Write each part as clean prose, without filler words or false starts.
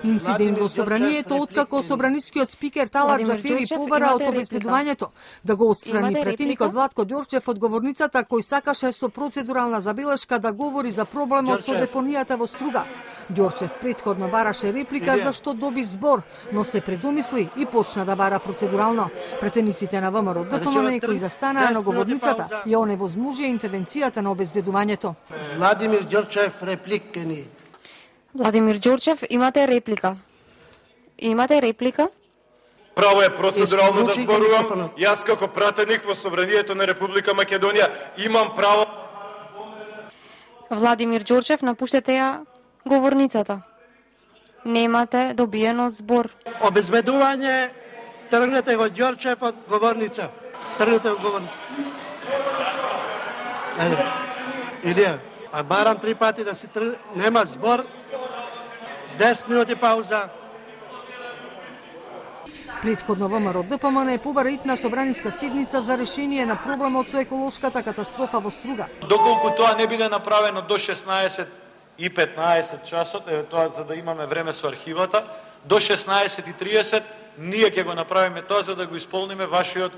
Инцидент во собранието откако собранискиот спикер Талат Џафери побара од обезбедувањето да го отстрани претеникот Владко Ѓорчев од говорницата кој сакаше со процедурална забелешка да говори за проблемот со депонијата во Струга. Ѓорчев претходно бараше реплика за што доби збор, но се предумисли и почна да бара процедурално. Претениците на ВМРО ДПМН кои застанаа на говорницата ја оневозможија интервенцијата на обезбедувањето. Владимир Ѓорчев репликени. Владимир Ѓорчев, имате реплика. Имате реплика? Право е процедурално да зборувам. Јас како пратеник во собранието на Република Македонија имам право. Владимир Ѓорчев, напуштете ја говорницата. Немате добиено збор. Обезбедување, тргнете го Ѓорчев од говорница. Тргнете од говорница. Илија, а барам 3 пати да се тргне, нема збор. 10 минути пауза. Претходно ВМРО ДПМН побара итна собраниска седница за решение на проблемот со еколошката катастрофа во Струга. Доколку тоа не биде направено до 16:15 часот, тоа за да имаме време со архивата, до 16:30 ние ќе го направиме тоа за да го исполниме вашиот,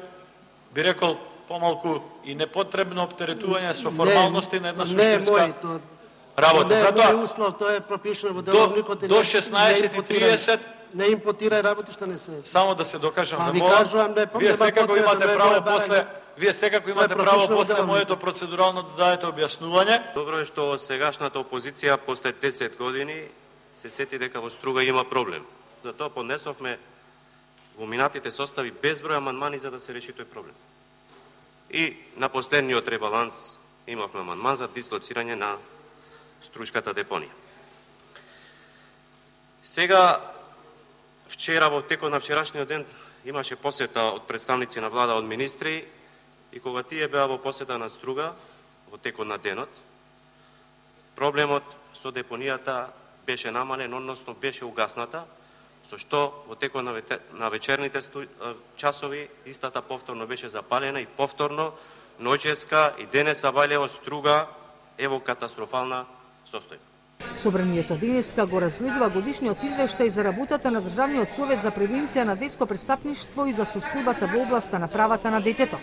би рекол, помалку и непотребно оптеретување со формалности на една суштинска работа. Затоа тоа е пропишано во деловникот до 16:30 не импутира работи што не се. Само да се докажам да молам. Вие секако имате право после после моето процедурално да дадете објаснување. Добро е што сегашната опозиција после 10 години се сети дека во Струга има проблем. Затоа поднесовме во минатите состави безброј амандмани за да се реши тој проблем. И на последниот ребаланс имавме амандман за дислоцирање на Струшката депонија. Сега, вчера во текот на вчерашниот ден имаше посета од представници на влада, од министри, и кога тие беа во посета на Струга во текот на денот, проблемот со депонијата беше намален, односно беше угасната, со што во текот на вечерните часови истата повторно беше запалена и повторно ноќеска и денеса Валјево Струга е во катастрофална состојба. Собранието денеска го разгледува годишниот извештај за работата на Државниот совет за превенција на детско престапништво и за состојбата во областа на правата на детето.